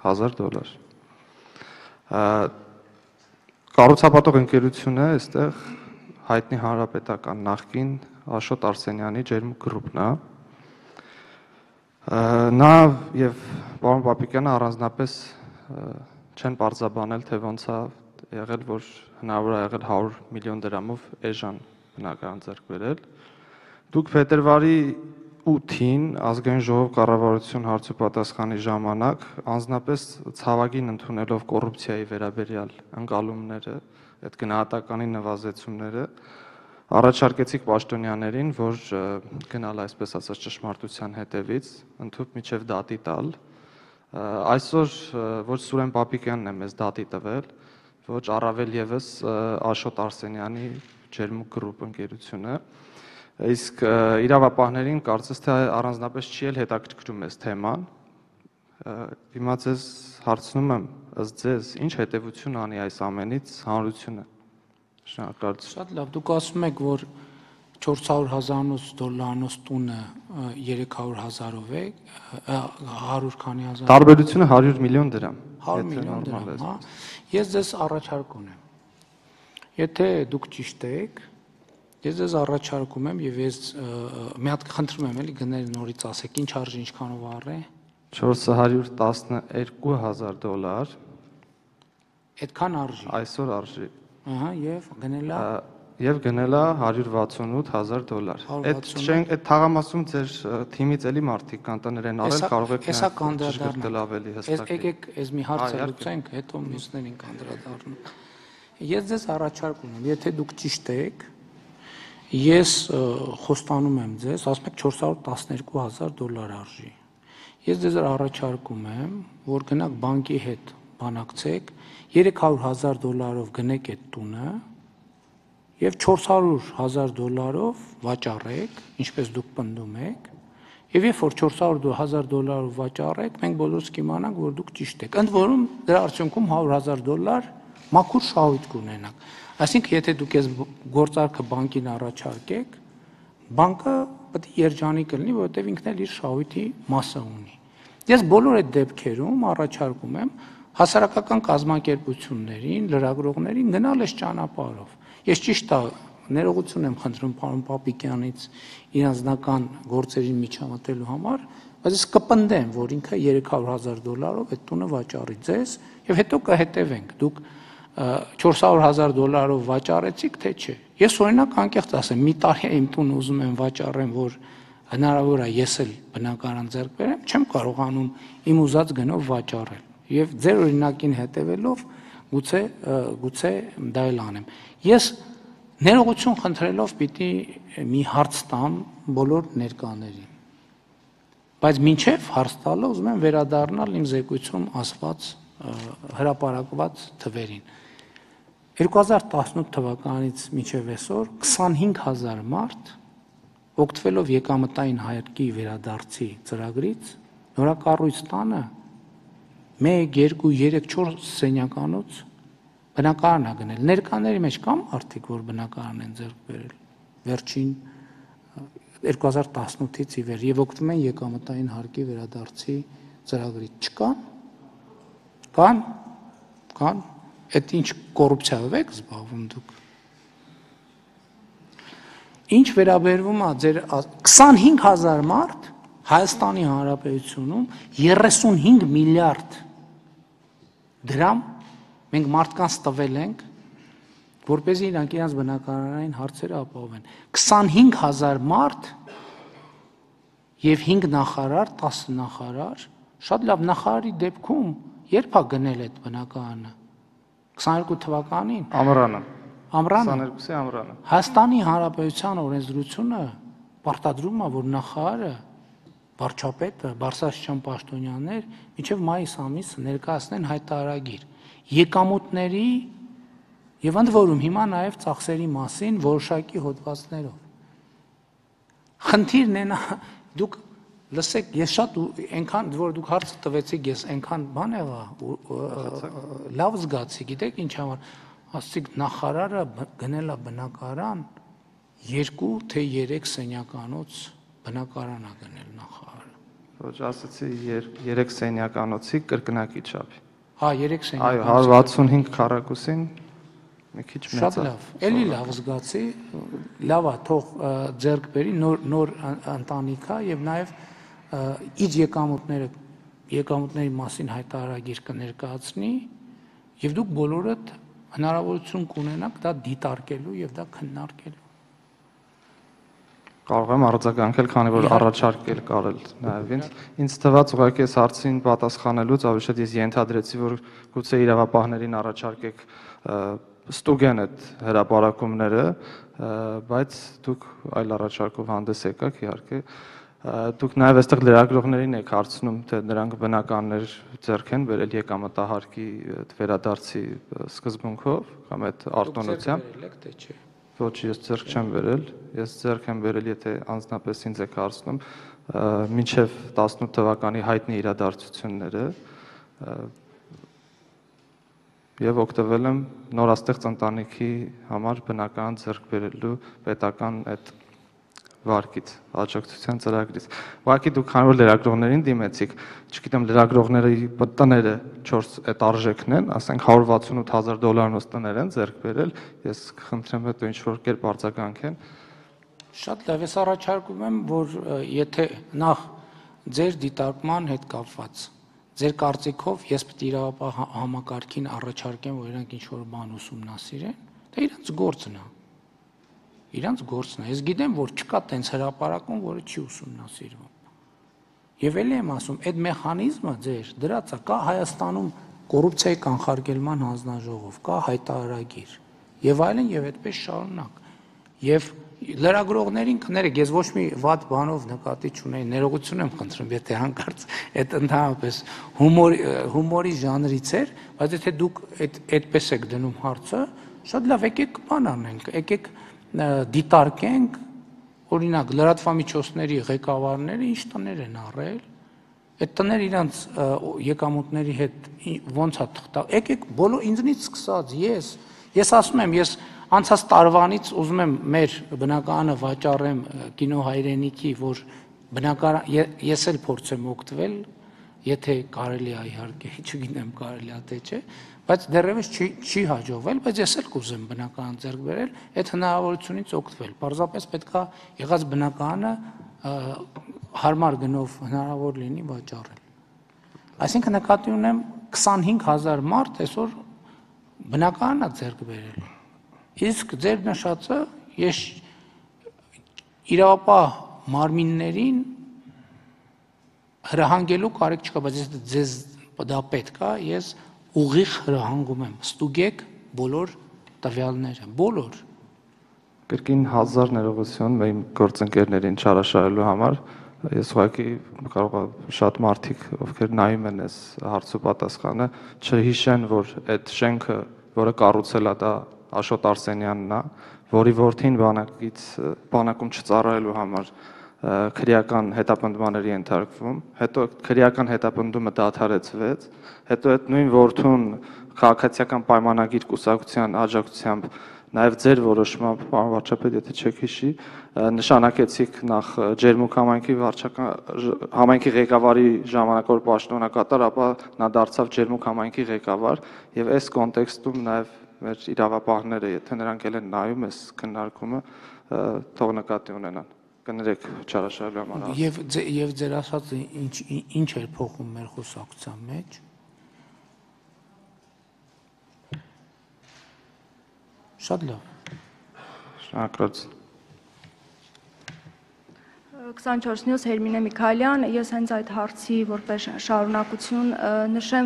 $1,000։ Կառուցապատող ընկերությունը այստեղ հայտնի հանրապետական նախկին Աշոտ Արսենյանի ջերմուկ գրուպն է։ Նա եւ պարոն Պապիկյանը առանձնապես չեն պարզաբանել, թե ոնց է եղել, որ հնարավոր է եղել 100 միլիոն դրամով էժան բնակարան ձեռք բերել։ Դուք փետրվարի 8-ին ազգային ժողով կառավարություն հարցուպատասխանի ժամանակ անձնապես ցավագին ընդունելով կոռուպցիայի վերաբերյալ ընկալումները, այդ գնահատականի նվազեցումները, առաջարկեցիք պաշտոնյաներին, որ գնալ այսպես ասած ճշմարտության հետևից, ընդհանուր միջև դատի տալ։ Այսօր ոչ Սուրեն Պապիկյանն է մեզ դատի տվել, ոչ առավել եւս Աշոտ Արսենյանի ջերմուկ գրուպ ընկերությունը։ Իսկ իրավապահներին կարծես թե առանձնապես չի էլ հետաքրքրում այս թեման։ Հիմա ձեզ հարցնում եմ, ըստ ձեզ, ինչ հետևություն անի այս ամենից հանրությունը։ Շնորհակալություն։ Շատ լավ, դուք ասում եք, որ $400,000 տունը 300,000-ով է, 100 քանի հազար։ Տարբերությունը 100 միլիոն դրամ։ 100 միլիոն դրամ, հա։ Ես ձեզ առաջարկ ունեմ։ Եթե դուք ճիշտ եք, ես ձեզ առաջարկում եմ եւ ես մի հատ խնդրում եմ էլի գնել նորից ասեք, ինչ արժի, ինչքանով առե։ $412,000։ Այդքան արժի։ Այսօր արժի։ Ահա, եւ գնելա։ Եվ գնելա $168,000։ Այդ թաղամասում ձեր թիմից էլի մարդիկ կան տներ են արել, կարող եք կանդրադառնալ ավելի հստակ։ Եկեք այս մի հարցը լուծենք, հետո մյուսներին կանդրադառնանք։ Ես ձեզ առաջարկ ունեմ, եթե դուք ճիշտ եք, ես խոստանում եմ ձեզ, ասում եք $412,000 արժի։ Ես ձեզ առաջարկում եմ, որ գնաք բանկի հետ բանակցեք, $300,000-ով գնեք այդ տունը եւ $400,000-ով վաճառեք, ինչպես դուք պնդում եք, եւ երբ որ $400,000-ով վաճառեք, մենք բոլորս կիմանանք, որ դուք ճիշտ եք։ Ընդ որում դրա արդյունքում $100,000 մաքուր շահույթ կունենաք։ Այսինքն, եթե դուք այս գործարքը բանկին առաջարկեք, բանկը պետք է երջանիկ լինի, որովհետեւ ինքն էլ իր շահույթի մասը ունի։ Ես բոլոր այդ դեպքերում առաջարկում եմ հասարակական կազմակերպություններին, լրագրողներին գնալ այս ճանապարհով։ Ես ճիշտ է, ներողություն եմ խնդրում պարոն Պապիկյանից իր անձնական գործերին միջամտելու համար, բայց ես կպնդեմ, որ ինքը $300,000-ով այդ տունը վաճառի ձեզ եւ հետո կհետևենք։ Դուք $400,000-ով վաճառեցիք, թե չէ։ Ես օրինակ անկեղծ ասեմ, մի տարի իմ տունը ուզում եմ վաճառեմ, որ հնարավոր է ես էլ բնակարան ձեռք բերեմ, չեմ կարողանում իմ ուզած գնով վաճառել։ Եվ ձեր օրինակին հետևելով գուցե դա էլ անեմ։ Ես ներողություն խնդրելով պիտի մի հարց տամ բոլոր ներկաներին։ Բայց մինչև հարց տալը ուզում եմ վերադառնալ իմ զեկույցում ասված հրապարակված թվերին։ 2018 թվականից մինչև այսօր 25,000 մարդ օգտվելով եկամտային հայրկի վերադարձի ծրագրից նորակառույց տանը 1, 2, 3, 4 սենյականոց բնակարան է գնել։ Ներկաների մեջ կան մարդիկ, որ բնակարան են ձեռք բերել վերջին 2018-ից ի վեր եւ օգտվում են եկամտային հարկի վերադարձի ծրագրից։ Չկան։ Կան։ Այդ ինչ կոռուպցիայով եք զբաղվում դուք։ Ինչ վերաբերվում է ձեր 25,000 մարդ Հայաստանի Հանրապետությունում 35 միլիարդ դրամ մենք մարդկանց տվել ենք, որպեսզի իրանք իրենց բնակարանային հարցերը ապահովեն։ 25,000 մարդ եւ 5 նախարար, 10 նախարար, շատ լավ նախարարի դեպքում երբ է գնել այդ բնակարանը։ 22 թվականին։ Ամռանը։ 22-ի ամռանը։ Հայաստանի Հանրապետության օրենսդրությունը պարտադրում է, որ նախարարը, վարչապետը, բարձրաստիճան պաշտոնյաներ մինչև մայիս ամիս ներկայացնեն հայտարարագիր եկամուտների եւ ընդ որում հիմա նաեւ ծախսերի մասին որոշակի հոդվածներով։ Խնդիրն է նա դուք լսեք, ես շատ այնքան որ դուք հարցը տվեցիք, ես այնքան բան եղա լավ զգացի, գիտեք ինչ համար, ասացիք նախարարը գնել է բնակարան 2 թե 3 սենյականոց բնակարան է գնել նախարարը։ Ոչ, ասացի 3 սենյականոցի կրկնակի չափի։ Հա, 3 Այո, սենյականոցի։ 165 քառակուսին մի քիչ մեծ է։ Շատ լավ, էլի լավ զգացի, լավ է, թող ձեռք բերի նոր ընտանիք է եւ նաեւ իր եկամուտների մասին հայտարարագիր կներկայացնի եւ դուք բոլորդ հնարավորություն կունենաք դա դիտարկելու եւ դա քննարկելու։ Կարող եմ արձագանքել, քանի որ առաջարկել կարել նաեւ ինձ թվաց ուղղակի այս հարցին պատասխանելուց ավելի շատ ես ենթադրեցի, որ գուցե իրավապահներին առաջարկեք ստուգեն այդ հրապարակումները, բայց դուք այլ առաջարկով հանդես եկաք իհարկե։ Դուք նաև այստեղ լրագրողներին եք հարցնում, թե նրանք բնականներ ձեռք են բերել եկամտահարկի վերադարձի սկզբունքով կամ այդ արտոնությամբ։ Ոչ, ես ձեռք չեմ բերել, ես ձեռք եմ բերել, եթե անձնապես ինձ եք հարցնում, մինչև 18 թվականի հայտնի իրադարձությունները եւ օգտվել եմ նորաստեղծ ընտանիքի համար բնական ձեռք բերելու պետական այդ վարկից, աջակցության ծրագրից։ Ուղղակի դուք քանի որ լրագրողներին դիմեցիք, չգիտեմ լրագրողների տները 4 այդ արժեքն են, ասենք $168,000 տներ են ձեռք բերել, ես խնդրեմ հետո ինչ որ կերպ արձագանքեն։ Շատ լավ, ես առաջարկում եմ, որ եթե նախ ձեր դիտարկման հետ կապված ձեր կարծիքով ես պետք է իրավապահ համակարգին առաջարկեմ, որ իրանք ինչ որ բան ուսումնասիրեն, դա իրանց գործն է։ Իրանց գործն է։ Ես գիտեմ, որ չկա տենց հրապարակում, որը չի ուսումնասիրվում։ Եվ ելի եմ ասում, այդ մեխանիզմը ձեր դրած է, կա Հայաստանում կոռուպցիայի կանխարգելման հանձնաժողով, կա հայտարարագիր եւ այլն եւ այդպես շարունակ։ Եվ լրագրողներին կներեք, ես ոչ մի վատ բանով նկատի չունեի, ներողություն եմ խնդրում, եթե հանկարծ այդ ընդհանրապես հումորի ժանրից էր, բայց եթե դուք այդպես եք դնում հարցը, շատ լավ, եկեք բան անենք, եկեք դիտարկենք, օրինակ լրատվամիջոցների ղեկավարները ինչ տներ են առել, այդ տները իրանց եկամուտների հետ ոնց է թղթա, եկեք բոլոր ինձնից սկսած, ես ասում եմ, ես անցած տարվանից ուզում եմ մեր բնակարանը վաճառեմ կինո հայրենիքի, որ ես էլ փորձեմ օգտվել, եթե կարելի է իհարկե, չգիտեմ կարելի է թե չէ, բայց դեռևս չի հաջողվել, բայց ես էլ կուզեմ բնակարան ձեռք բերել, այդ հնարավորությունից օգտվել։ Պարզապես պետք է եղած բնակարանը հարմար գնով հնարավոր լինի վաճառել։ Այսինքն նկատի ունեմ 25,000 մարդ այսօր բնակարան է ձեռք բերել։ Իսկ ձեր նշածը ես իրավապահ մարմիններին հրահանգելու կարիք չկա, բայց եթե ձեզ դա պետք է, ես ուղիղ հրահանգում եմ, ստուգեք բոլոր տվյալները, բոլոր։ Կրկին 1000 ներողություն իմ գործընկերներին չարաշահելու համար, ես ուղղակի կարող եմ շատ մարդիկ, ովքեր նայում են այս հարցու պատասխանը, չհիշեն, որ այդ շենքը, որը կառուցել է դա Աշոտ Արսենյանն է, որի որդին բանակում չծառայելու համար քրեական հետապնդմանների ենթարկվում, հետո քրեական հետապնդումը դադարեցվեց, հետո այդ նույն որդուն քաղաքացիական պայմանագիր կուսակցության աջակցությամբ նաև ձեր որոշմամբ, պարոն վարչապետ, եթե չեք հիշի, նշանակեցիք նախ Ջերմուկ համայնքի ղեկավարի ժամանակավոր պաշտոնակատար, ապա նա դարձավ Ջերմուկ համայնքի ղեկավար, եւ այս կոնտեքստում նաև մեր իրավապահները, եթե նրանք էլ են նայում այս քննարկումը, թող նկատի ունենան։ Կներեք չարաշահելու համար։ Եվ ձեր ասածը ինչ էր փոխում մեր խոսակցության մեջ։ Շատ լավ։ Շնորհակալություն։ 24 News Հերմինե Միքայելյան, ես հենց այդ հարցի որպես շարունակություն նշեմ